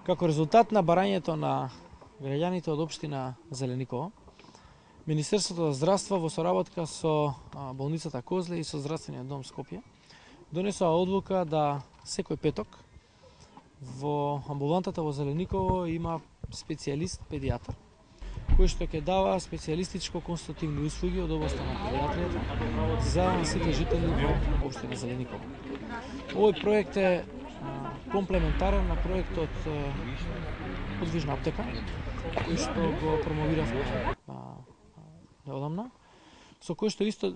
Како резултат на барањето на граѓаните од општина Зелениково, Министерството за здравство во соработка со болницата Козле и со здравствениот дом Скопје донесоа одлука да секој петок во амбулантата во Зелениково има специјалист педијатар кој што ќе дава специјалистичко консултативни услуги од областа на педиатријата за сите жители во општина Зелениково. Овој проект е комплементарен на проектот Подвижна аптека, кој што го промовиравме неодамна, со кој што исто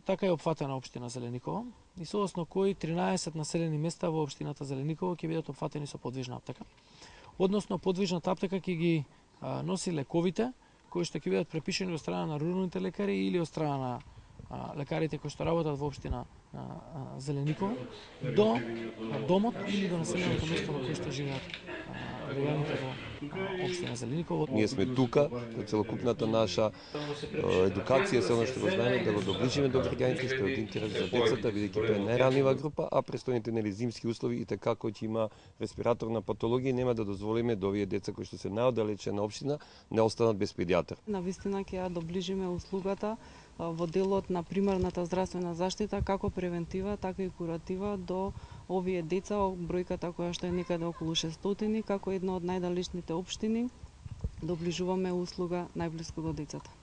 така е опфатена општина Зелениково и соодносно кој 13 населени места во општината Зелениково ќе бидат опфатени со подвижна аптека. Односно подвижната аптека ќе ги носи лековите кои што ќе бидат препишани од страна на руралните лекари или од страна на лекарите кои што работат во општина Зелениково до домот или до населеното место во кој што живеат граѓаните во општина Зелениково. Ние сме тука за целокупната наша едукација, се оно што го знаеме, да го доближиме до граѓаните, што е од интерес за децата, бидејќи тоа е најранлива група, а престојните зимски услови и така кој ќе има респираторна патологија нема да дозволиме да овие деца кои што се најоддалечена општина не останат без педијатар. Навистина ќе ја доближиме услугата во делот на примарната здравствена заштита, како превентива, така и куратива до овие деца, бројката која што е некаде околу 600, како една од најдалечните општини, доближуваме услуга најблиску до децата.